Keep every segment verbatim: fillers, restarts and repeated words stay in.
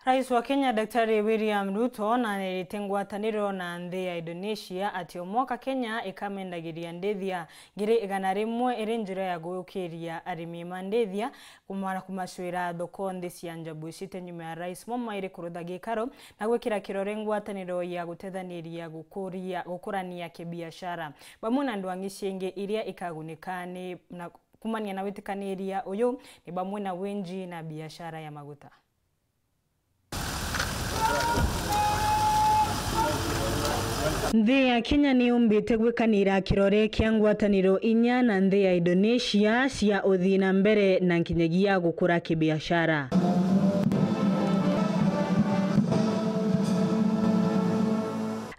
Rais wa Kenya, Daktari William Ruto, naanirite ngwataniro na nthi ya Indonesia ati o mwaka Kenya ikamendagiria ndithia ngiri igana rimwe iri njira ya gukiria arimi ma ndithia kumara kumacwira thoko nthi cia njabu icite nyuma ya rais mamairi kurutha gikaro na gwikira kirore ngwataniro ya gutethaniria gukuria, gukurania kibiashara, bamwe na ndwangi ciingi iria ikagunika ni na kumania na witikaniria uyu ni bamwe na winji na biashara ya maguta. Nthi ya Kenya ni yumbite gwikanira kirore kia ngwataniro inya na nthi ya Indonesia cia uthii na mbere na nkinyagia gukura kibiashara.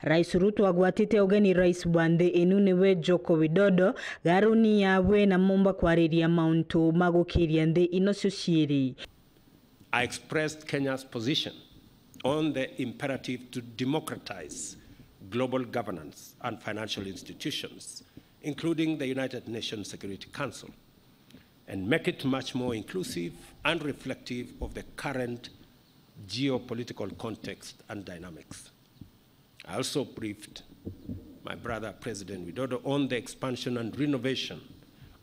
Rais Ruto agwatite ugeni rais wa nthi inu niwe Joko Widodo garuni yawe na momba kwariria mauntu ma gukiria nthi ino cio ciiri. I expressed Kenya's position on the imperative to democratize global governance and financial institutions, including the United Nations Security Council, and make it much more inclusive and reflective of the current geopolitical context and dynamics. I also briefed my brother President Widodo on the expansion and renovation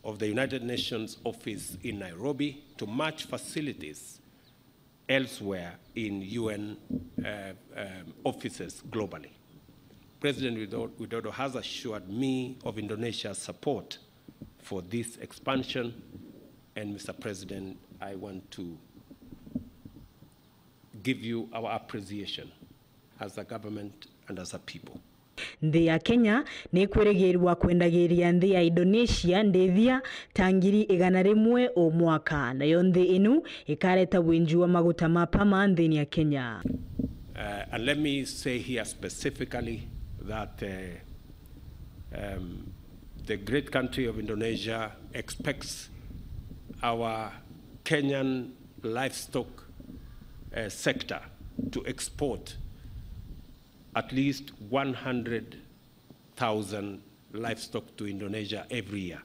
of the United Nations office in Nairobi to match facilities elsewhere in U N, uh, um, offices globally. President Wido-, Widodo has assured me of Indonesia's support for this expansion, and Mister President, I want to give you our appreciation as a government and as a people. Nthi ya Kenya ni ikwirigirwa kwendagiria nthi ya Indonesia ndithia ta ngiri igana rimwe o mwaka, nayo nthi inu ikareta winji wa maguta ma pama nthini ya Kenya. Uh, and let me say here specifically that, uh, um, the great country of Indonesia expects our Kenyan livestock, uh, sector to export at least one hundred thousand livestock to Indonesia every year.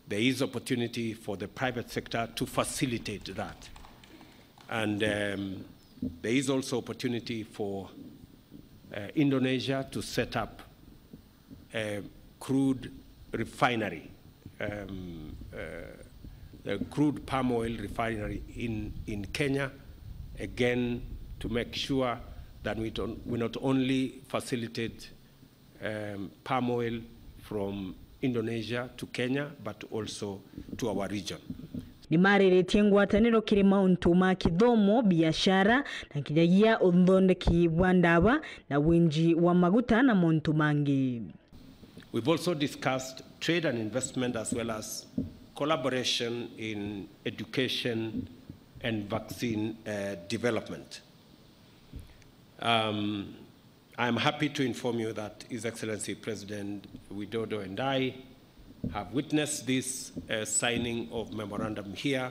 There is opportunity for the private sector to facilitate that. And, um, there is also opportunity for, uh, Indonesia to set up a crude refinery, um, uh, a crude palm oil refinery in, in Kenya, again, to make sure that we don't, we not only facilitate, um, palm oil from Indonesia to Kenya, but also to our region. Ni mariritie ngwataniro kiri mauntu ma kithomo, biashara, na nkinyagia uthondeki bwa ndawa na winji wa maguta na mauntu mangi. We've also discussed trade and investment, as well as collaboration in education and vaccine, uh, development. Um, I am happy to inform you that His Excellency President Widodo and I have witnessed this, uh, signing of memorandum here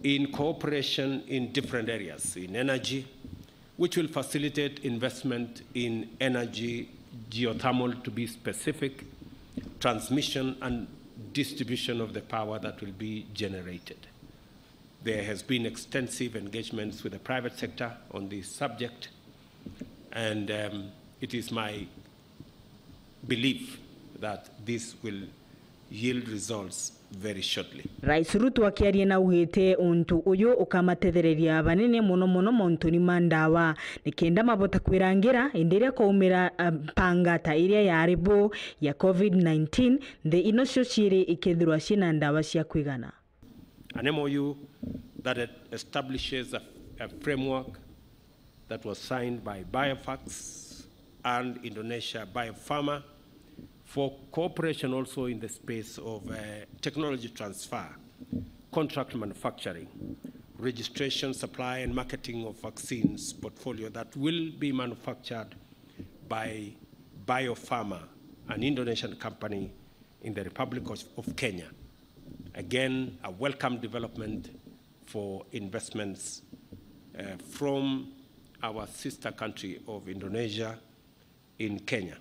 in cooperation in different areas, in energy, which will facilitate investment in energy, geothermal to be specific, transmission and distribution of the power that will be generated. There has been extensive engagements with the private sector on this subject, and, um, it is my belief that this will yield results very shortly. Rais Ruto akiaria naugite untu uyu ukamatethereria banene mono mono mauntuni ma ndawa, nikenda mabota kwirangira indi iria kwaumira, ah, mpanga ta iria yari bo ya covid nineteen, nthi ino cio ciiri ikethirwa ciina ndawa cia kwigana. An M O U that establishes a, a framework that was signed by Biofax and Indonesia Biopharma for cooperation also in the space of, uh, technology transfer, contract manufacturing, registration, supply and marketing of vaccines portfolio that will be manufactured by Biopharma, an Indonesian company in the Republic of, of Kenya. Again, a welcome development for investments, uh, from our sister country of Indonesia in Kenya.